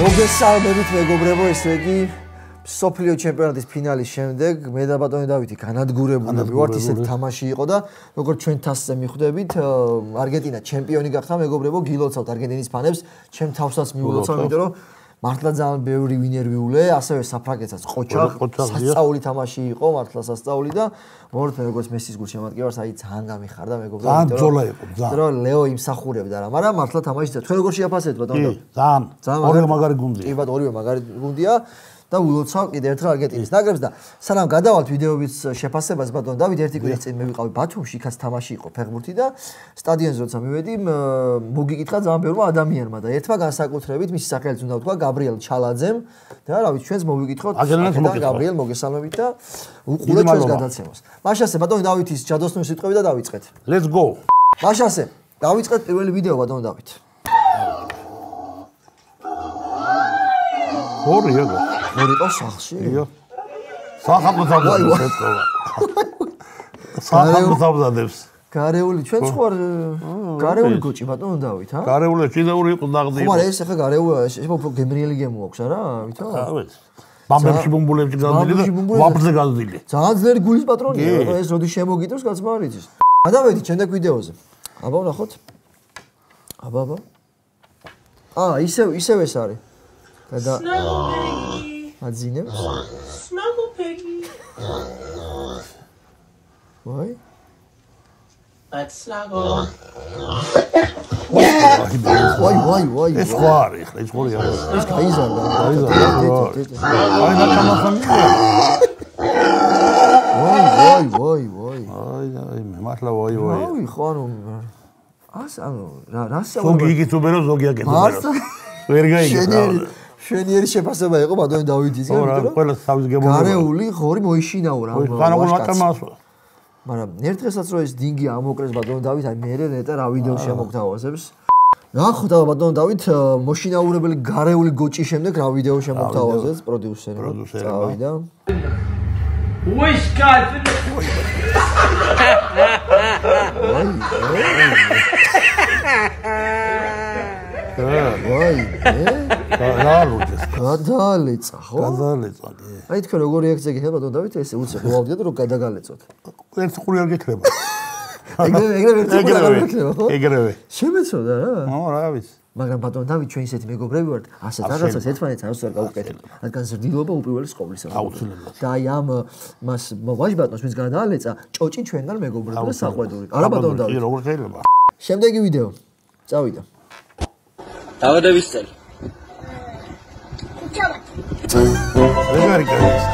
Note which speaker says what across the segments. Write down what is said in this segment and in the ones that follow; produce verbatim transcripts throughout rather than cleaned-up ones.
Speaker 1: მოგესალმებით მეგობრებო, ესე იგი სოფლიო ჩემპიონატის ფინალის შემდეგ მე და ბატონი დავითი განადგურებულები ვართ, ისეთი თამაში იყო და როგორც ჩვენ თასზე მიხვდებით, არგენტინა ჩემპიონი გახდა მეგობრებო, გილოცავთ არგენტინის ფანებს, ჩემ თავსაც მიულოცავ, იმიტომ რომ მართლა ძალიან ბევრი ვინერვიულე, ასევე საფრანგეთსაც ყოჩა, სასწაული თამაში იყო, მართლა სასწაული და მოვართ როგორც მესის გულშემატკივარს, აი ძალიან გამიხარდა მეგობრებო,
Speaker 2: ძალიან ბრძოლა იყო, ძალიან.
Speaker 1: რომ ლეო იმსახურებდა რა, მაგრამ მართლა თამაში თქვენ როგორ შეაფასეთ ბატონო?
Speaker 2: ძალიან. ორივე მაგარი გუნდია.
Speaker 1: კი ბატონო, ორივე მაგარი გუნდია. და ვილოცავ კიდევ ერთხელ არგენტინის ნაკრებს და სანამ გადავალთ ვიდეოების შეფასებას ბატონო დავით ერთი კვირის წინ მე ვიყავი ბათუმში, იქაც თამაში იყო ფეხბურთი და სტადიონზე როცა მივედი მოგიკითხა ძალიან ბევრმა ადამიანმა და ერთმა განსაკუთრებით მისი სახელიც უნდა ვთქვა გაბრიელ ჩალაძემ და რა ვიცი ჩვენს მოვიკითხოთ გაბრიელ მოგესალმებით და უყურეთ ჩვენს გადაცემას. მაშასე ბატონო დავითის ჯადოსნური სიტყვები და დავიწყეთ.
Speaker 2: Let's go.
Speaker 1: მაშასე დავიწყეთ პირველი ვიდეო ბატონო დავით.
Speaker 2: ორი ეგ
Speaker 1: ორი ყავს სახში?
Speaker 2: იო. სახამო თავზადებს ეთქვა. სახამო თავზადებს.
Speaker 1: გარეული ჩვენ სხვა გარეული გოჭი ბატონო დავით, ჰა?
Speaker 2: გარეული ჭიდაური იყო ნაღდი.
Speaker 1: ხო, მაგრამ ეს ახლა გარეული ეს უფრო გემრიელი გემო აქვს არა, ვითო?
Speaker 2: რა ვიცი. ბამბებში ბუმბულებში გაზრდილი და ვაფრზე გაზრდილი.
Speaker 1: ძალიან ძლიერი გულის პატრონია, ეს როდის შემოგიტევს კაცმა არ იცის. გადავედი შემდეგ ვიდეოზე. აბა ვნახოთ. აბა აბა. აა, ისევ ისევ ეს არის. და აძინებს
Speaker 3: Snuggle Piggy.
Speaker 1: ვაი
Speaker 3: Let's snuggle.
Speaker 1: ვაი ვაი ვაი
Speaker 2: ეს ხო არის ხა ეს ხორი არის
Speaker 1: ეს გაიზარდა
Speaker 2: გაიზარდა აი ნაკამახამი
Speaker 1: ვაი ვაი ვაი ვაი
Speaker 2: აი აი მე მართლა ვაი ვაი
Speaker 1: ვაი ხო ანუ ას ანუ რა რა
Speaker 2: ზოგი იგიწუბერო ზოგი აკეთებერო ვერ გაიგებს
Speaker 1: შვენიერი შეფასება იყო ბატონი დავითისგან,
Speaker 2: იმიტომ რომ ყველა თავის გემოვიდა.
Speaker 1: გარეული ხორი მოიშინაურა ამ
Speaker 2: ვაშკაცს.
Speaker 1: მაგრამ ერთ დღესაც რო ეს დინგი ამოკრეს ბატონი დავით, აი მე რეტა რა ვიდეო შემოგთავაზებს. ნახოთ ბატონი დავით, მოშინაურებელი გარეული გოჭის შემდეგ რა ვიდეო შემოგთავაზებს პროდიუსერი.
Speaker 2: პროდიუსერი.
Speaker 1: წავიდა.
Speaker 3: Wishkat.
Speaker 1: ვაი,
Speaker 2: გადაალუჭეს.
Speaker 1: გადაალეცა, ხო?
Speaker 2: გადაალეცა, კი.
Speaker 1: აი თქვენ როგორ რეაქცია გიქნება ბატონო დავით, ესე უცე ხოვავდით რომ გადაგალეწოთ.
Speaker 2: ერთ ხური არ გექნება.
Speaker 1: ეგრევე ეგრევე ერთ ხური არ გექნება, ხო?
Speaker 2: ეგრევე.
Speaker 1: შემეცოდა რა?
Speaker 2: ო, რა ვიცი.
Speaker 1: მაგრამ ბატონო დავით ჩვენ ისეთი მეგობრები ვართ, ასეთ რაღაცას ერთმანეთს არასდროს არ გავუკეთებთ. რადგან ზრდილობა უპირველეს ყოვლისა.
Speaker 2: აუცილებლად.
Speaker 1: და აი ამ მას ვაჟ ბატონს ვინც გადაალეცა, ჭოჭი ჩვენგან მეგობრებია და საყვედური. არა ბატონო დავით.
Speaker 2: კი, როგორ შეიძლება?
Speaker 1: შემდეგი ვიდეო. წავიდა.
Speaker 4: დავადების წელი.
Speaker 2: ეგარი გაიგეს.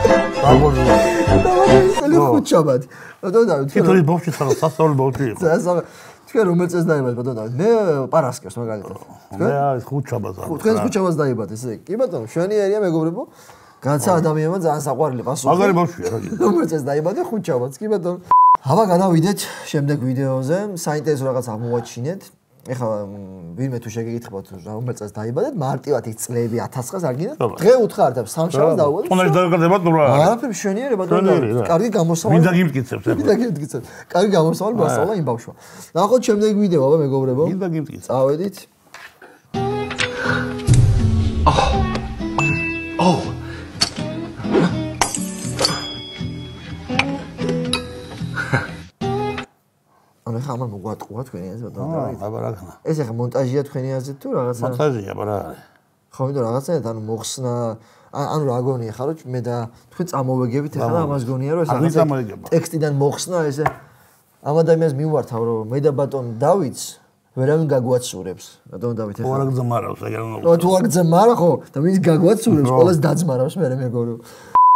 Speaker 2: დაბოძო.
Speaker 1: დავადების წელი ხუჩაბად. ბატონო დავით.
Speaker 2: თითოეულ ბავშვი ხარ სასწავლო ბავშვი იყო.
Speaker 1: სასწავლო. თქვენ რომელ წელს დაიბადეთ ბატონო დავით? მე პარასკევს მაგალითად.
Speaker 2: მე არის ხუჩაბაზე.
Speaker 1: თქვენ ხუჩაბას დაიბადეთ ესე? კი ბატონო, შვენიერია მეგობრებო. განსა ადამიანმა ძალიან საყვარელი პასუხი.
Speaker 2: მაგარი ბავშვია რა გიქნა.
Speaker 1: რომელ წელს დაიბადე ხუჩაბაც, კი ბატონო. აბა გადავიდეთ შემდეგ ვიდეოზე, საინტერესო რაღაც აღმოვაჩინეთ. ეხლა ვინმე თუ შეგეკითხებათ რომელ წელს დაიბადეთ, მარტივად იქ წლები ათას წელს არ გინდათ? დღე უთხრა და სამშაბათს დავუვადეთ.
Speaker 2: თუნდაც დაგაგდება თუ რა?
Speaker 1: არაფერი მშვენიერება ბატონო. კარგი გამოსავალი.
Speaker 2: მინდა გიმტკიცებს ეხლა.
Speaker 1: მინდა გიმტკიცებს. კარგი გამოსავალი მასწავლა იმ ბავშვმა. ნახოთ შემდეგ ვიდეო აბა მეგობრებო.
Speaker 2: მინდა გიმტკიცებს.
Speaker 1: წავედით.
Speaker 4: Oh.
Speaker 1: ანუ ხა ამან მოგვატყუა თქვენი აზრი ბატონო დავით.
Speaker 2: აბა რა ქნა.
Speaker 1: ეს ახლა მონტაჟია თქვენი აზრით თუ რაღაცა?
Speaker 2: მონტაჟია, აბა რა არის?
Speaker 1: ხო, იმიტომ რაღაცა ანუ მოხსნა ანუ რა გონია ხარო მე და თქვენ წამოვეგებით ახლა ამას გონია რომ ეს რაღაცა ტექსტიდან მოხსნა ესე ამ ადამიანს მივართავ რომ მე და ბატონ დავითს ვერავინ გაგვაცურებს ბატონ დავით
Speaker 2: ახლა. ხო, არ გძმარავს ეგ რა.
Speaker 1: ხო, თუ არ გძმარა ხო და ვინც გაგვაცურებს ყველას დაძმარავს მე მეგორო.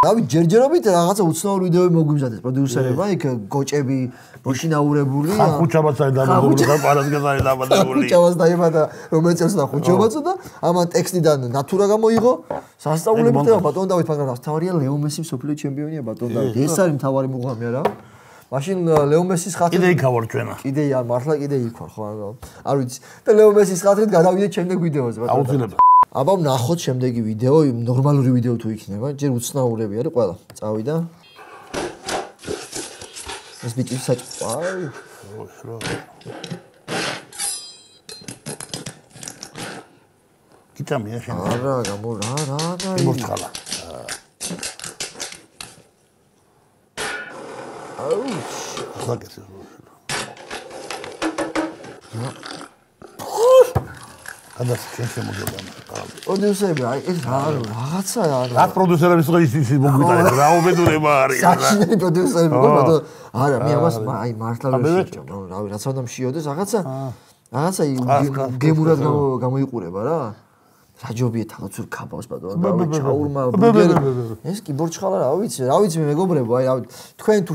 Speaker 1: დავით ჯერჯერობით რაღაცა უცნაური ვიდეოები მოგვიმზადეს პროდიუსერებმა იქ გოჭები მოშინაურებული
Speaker 2: ხა ხუჩაბაც არის დაბადებული და პარასკევს არის დაბადებული.
Speaker 1: ხუჩაბაც დაიბადა რომელიც წელს და ხუჩაბაცო და ამან ტექსტიდან ნატურა გამოიღო სასწაულებით და ბატონ დავით მაგრამ თავარია ლეო მესი სოფლიო ჩემპიონია ბატონ დავით ეს არის მთავარი მუღამი არა მაშინ ლეო მესის ხათრით
Speaker 2: კიდე იქ ვარ ჩვენა
Speaker 1: კიდე მართლა კიდე იქ ვარ ხო არ ვიცი და ლეო მესის ხათრით გადავიდეთ შემდეგ ვიდეოზე ბატონ
Speaker 2: აუცილებლად
Speaker 1: აბა ვნახოთ შემდეგი ვიდეო ნორმალური ვიდეო თუ იქნება ჯერ უცნაურები არის ყველა წავიდა ეს ბიჭი საჭ აი
Speaker 2: მიჭამია შენ.
Speaker 1: არა, გამო რა რა რა.
Speaker 2: იმორჩხალა.
Speaker 1: აუ.
Speaker 2: ხაკეთე. გადას შენ შემოგვიდა.
Speaker 1: პროდიუსერები, აი ეს რა რაღაცა არა.
Speaker 2: რა პროდიუსერების ხო ის ის მოგვიტანეთ, რა უბედურება არის.
Speaker 1: საჩინელი პროდიუსერები გქონდა. არა, მე ამას აი მართლა ვერ შეჭამ. რავი, რაც უნდა მშიოდეს რაღაცა. რაღაცა გემურად გამოიყურება რა. რაჯობია თალაც ურ ქაბავს ბატონო. რავი, ჩაურმა ბურგერი. ეს კი ბორჩხალა რა ვიცი, რა ვიცი მე მეგობრებო, აი რავი, თქვენ თუ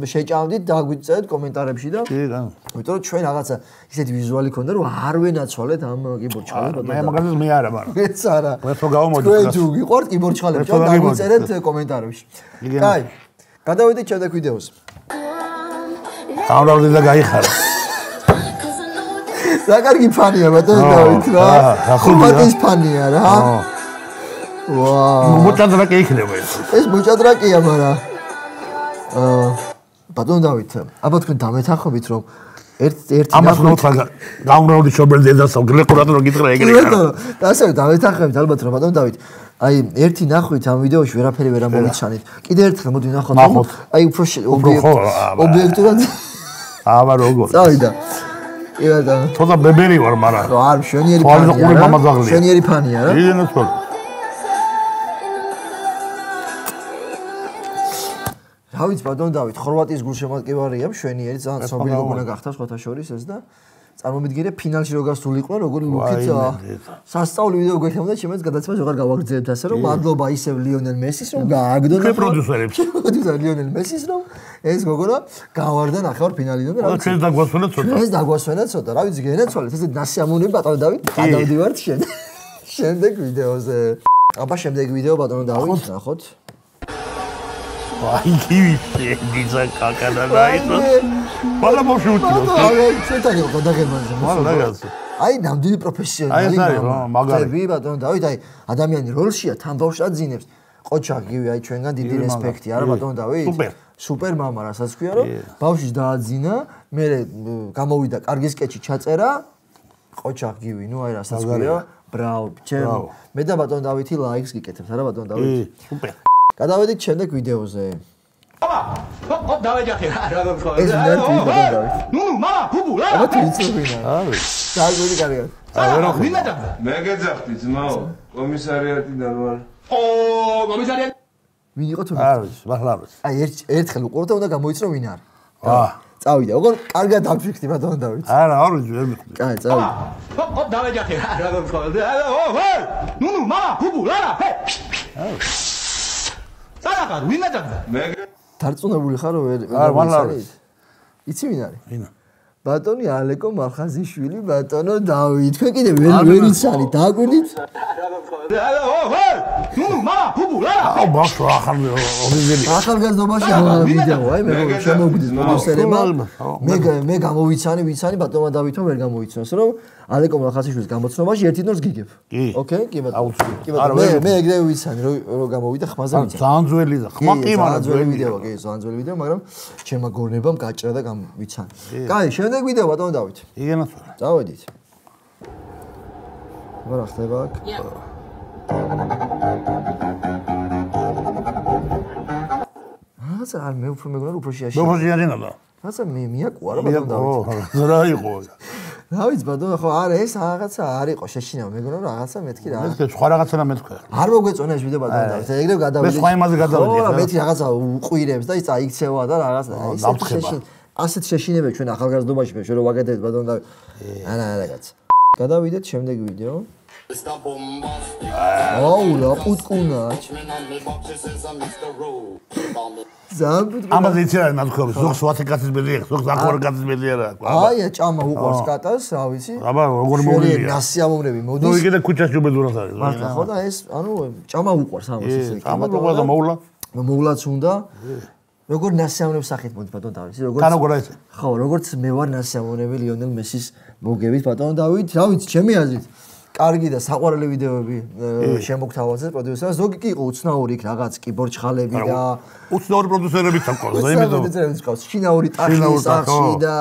Speaker 1: შეჭამდით დაგვიწერეთ კომენტარებში და
Speaker 2: კი რა.
Speaker 1: იმიტომ რომ ჩვენ რაღაცა ისეთი ვიზუალი ქონდა რომ არ ვენაცვალეთ ამ კი ბორჩხალებს ბატონო.
Speaker 2: მე მაგალითად მე არა მაგრამ.
Speaker 1: მეც არა.
Speaker 2: მე ხო გავამოდი.
Speaker 1: თქვენ თუ გიყვართ კი ბორჩხალებს და დაგვიწერეთ კომენტარებში. კაი. გადავიდეთ შემდეგ ვიდეოზე.
Speaker 2: გამრავდი და გაიხარა.
Speaker 1: რა კარგი ფანია ბატონო დავით რა. ხუმატის ფანია რა. ვაუ.
Speaker 2: მოჭადრაკე იქნება ეს.
Speaker 1: ეს მოჭადრაკეა, მაგრამ აა ბატონო დავით, აბა თქვენ დამეთანხმებით რომ ერთ ერთი
Speaker 2: ამას ნოთრა გამრავდი შობელ დედასო გლეკურად რომ გითხრა ეგრე ხარ.
Speaker 1: ბატონო, და ასე დამეთანხმებით ალბათ რომ ბატონო დავით აი ერთი ნახვით ამ ვიდეოში ვერაფერი ვერ ამოვიჩანით. კიდე ერთხელ მოდი ვნახოთ. აი უფრო ობიექტურად
Speaker 2: აბა როგორ.
Speaker 1: წავიდა. კი ბატონო.
Speaker 2: თორე ბებერი ვარ, მაგრამ
Speaker 1: არ შვენიერი ფანია. შვენიერი ფანია რა.
Speaker 2: იდენო თორე.
Speaker 1: რა ვიცი ბატონო დავით, ხორვატიის გულშემატკივარია, შვენიერი, ძალიან ცნობილი გოგონა გახდა სხვათა შორის ეს და წარმომიდგინე ფინალში რო გასულიყვნენ, როგორი ლუქით სასწაული ვიდეო გვექნებოდა, შემეც გადაცემას ვეღარ გავაგრძელებთ ასე რომ მადლობა ისევ ლიონელ მესის რომ გააგდონა
Speaker 2: პროდიუსერებს.
Speaker 1: პროდიუსერ ლიონელ მესის რომ ეს გოგონა გავარდა ნახევარ ფინალიდან და რა
Speaker 2: ვიცი. ეს დაგვასვენა ცოტა.
Speaker 1: ეს დაგვასვენა ცოტა. რა ვიცი გენაცვალეთ, ესე ნასიამოვნები ბატონო დავით, გადავდივართ შენ. შემდეგ ვიდეოზე. აბა შემდეგ ვიდეო ბატონო დავით, ნახოთ.
Speaker 2: აი გივი დიზა კაკადა დაიწყო. ყველა მოშუთი.
Speaker 1: აი ცოტა იყო გადაგებაზე.
Speaker 2: მაგაზე.
Speaker 1: აი ნამდვილი პროფესიონალი.
Speaker 2: აი ეს არის მაგარი.
Speaker 1: წები ბატონო დავით, აი ადამიანი როლშია, თან ბავშვად ძინებს. ყოჩა გივი აი ჩვენგან დიდი რესპექტი არა ბატონო დავით?
Speaker 2: სუპერ.
Speaker 1: სუპერ მამა რასაც ქვია რომ ბავშვი დააძინა, მე გამოვიდა კარგი სკეჩი ჩაწერა. ყოჩა გივი, ნუ აი რასაც ქვია. ბრავო, ჩემ. მე და ბატონო დავითი ლაიქს გიკეთებთ არა ბატონო დავით?
Speaker 2: სუპერ.
Speaker 1: გადავედით შემდეგ ვიდეოზე.
Speaker 3: მამა, ჰოპ, დავეჯახე რა გქონდა.
Speaker 1: ეს ნერტი ბატონო დავით.
Speaker 3: ნუ, მამა, ბუბუ, რა.
Speaker 1: აბა თუ იცოდინა.
Speaker 2: არის.
Speaker 1: დაგვიდი კარგად.
Speaker 2: აი ვერ ხო.
Speaker 3: ვინ დაძახდა?
Speaker 5: მე გეძახდი ძმაო, კომისარიატიდან ვარ.
Speaker 3: ო, კომისარიატი.
Speaker 1: ვინ იყო თუ?
Speaker 2: არის, მართლა არის.
Speaker 1: აი ერთ ერთხელ უყურდა უნდა გამოიწრო ვინ არის.
Speaker 2: აა.
Speaker 1: წავიდა. ოღონ კარგად დაფიქრდი ბატონო დავით.
Speaker 2: არა, არის ვერ მიხვდი.
Speaker 1: კაი, წავიდა.
Speaker 3: ჰოპ, ჰოპ, დავეჯახე რა გქონდა. ო, ჰე! ნუ, ნუ, მამა, ბუბუ, რა, ჰე. სანახარ, ვინ დაძახდა?
Speaker 5: მე
Speaker 1: დარწმუნებული ხარ რომ ვერ
Speaker 2: არ მართლა არის.
Speaker 1: იცი ვინ არის?
Speaker 2: ვინა?
Speaker 1: ბატონი ალეკო მალხაზიშვილი, ბატონო დავით. თქვენ კიდე ვერ ვერ იცანი, დააკვირდით?
Speaker 3: ო, ჰე! ნუ, ნუ, მამა, ბუბუ, რა.
Speaker 2: აუ ბავშვ ახალ ორიგინალი.
Speaker 1: ახალგაზრდობაში ამ ვიდეო, აი მე შემოგვიდის პროდიუსერებმა. მე მე გამოვიცანი, ვიცანი ბატონმა დავითო ვერ გამოიცნოს, რომ ალეკო მალხაზიშვილის გამოცნობაში ერთი ნორს გიგებ.
Speaker 2: ოკეი,
Speaker 1: კი ბატონო. კი ბატონო. მე მე ეგრევე ვიცანი, რომ რომ გამოვიდა ხმაზე ვიცანი.
Speaker 2: ძალიან ძველი და ხმა კი მაგრამ
Speaker 1: ძველი ვიდეოა, კი, ძალიან ძველი ვიდეო, მაგრამ ჩემმა გორნებამ გაჭრა და გამვიცანი. კაი, შემდეგ ვიდეო ბატონო დავით.
Speaker 2: იგენაც ვარ.
Speaker 1: წავედით. აბა რა ხდება აქ? რაცა არ მე უფრო მეგონა უფრო შეაშინა.
Speaker 2: მე უფრო შეაშინა და.
Speaker 1: რაცა მე მიაკუა რა ბატონო დავით.
Speaker 2: ო, რა იყო?
Speaker 1: რა ვიცი ბატონო, ხო არა ეს რაღაცა არ იყო შეშინა, მეგონა რომ რაღაცა მეთქი რა.
Speaker 2: მეთქი სხვა რაღაცა და მეთქვა.
Speaker 1: არ მოგვეწონა ეს ვიდეო ბატონო დავით. ეგრევე გადავიდი.
Speaker 2: მე სხვა იმაზე გადავიდი.
Speaker 1: ხო, მეთი რაღაცა უყვირებს და ის აიქცევა და რაღაცა. ისეთ შეშინ ასეთ შეშინებებს ჩვენ ახალგაზრდობაში მე შენ რო ვაკეთებთ ბატონო დავით. არა არა კაც. გადავიდეთ შემდეგ ვიდეო. აუ რა პუტკუნა. ზამბუდ.
Speaker 2: ამაზე იცი რა ნათქვამი, ზოგს ვათეკაცის ბედი, ზოგს ახორკაცის ბედი არა.
Speaker 1: აი ჭამა უყურს კატას, რა ვიცი.
Speaker 2: აბა როგორ მოვლია?
Speaker 1: ნასიამოვნები მოდის.
Speaker 2: ნუ იგივე ქუჩაში უბედურას არის.
Speaker 1: მართლა ხო და ეს ანუ ჭამა უყურს ამას ესე.
Speaker 2: ჭამა უყურს და მოვლა.
Speaker 1: მოვლაც უნდა. როგორ ნასიამოვნებს სახით მოდი ბატონო დავით, როგორც
Speaker 2: კანო გორა ეს.
Speaker 1: ხო, როგორც მე ვარ ნასიამოვნები ლიონელ მესის მოგებით ბატონო დავით, რა ვიცი, ჩემი აზრით. კარგი და საყვარელი ვიდეოები შემოგთავაზეთ პროდიუსერს. ზოგი კი იყო უცნაური იქ რაღაც კიბორჩხალები და
Speaker 2: უცნაური პროდიუსერებიც აქვს და იმიტომ
Speaker 1: პროდიუსერებიც ყავს. შინაური ტახი სახში და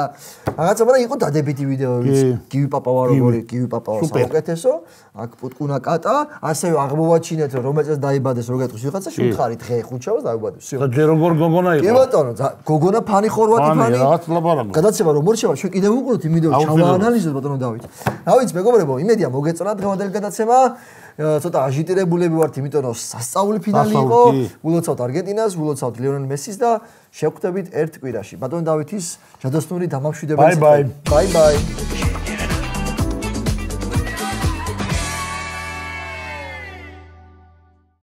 Speaker 1: რაღაცა, მაგრამ იყო დადებითი ვიდეოებიც. გივი პაპავა როგორი, გივი პაპავა საუკეთესო. აქ პუტკუნა კატა, ასევე აღმოვაჩინეთ რომ რომელსაც დაიბადეს რო გეტყვის ვიღაცა შევთხარით ხე ხუჩავს დაიბადეს. всё.
Speaker 2: და ჯერ როგორ გოგონა იყო?
Speaker 1: კი ბატონო, გოგონა ფანი ხორვატი ფანი.
Speaker 2: რაღაც ლაბარაკო.
Speaker 1: გადაცემა რომ მორჩება, ჩვენ კიდევ უყუროთ იმ ვიდეოს ჩავაანალიზოთ ბატონო დავით. რა ვიცი მეგობრებო, იმედია მოგეწონა დღევანდელი გადაცემა. ცოტა აჟიტირებულები ვართ, იმიტომ რომ სასწაული ფინალი იყო. ულოცავთ არგენტინას, ულოცავთ ლიონელ მესის და შევხვდებით ერთ კვირაში. ბატონო დავითის ჯადოსნური დამამშვიდებელი.
Speaker 2: ბაი ბაი.
Speaker 1: ბაი ბაი.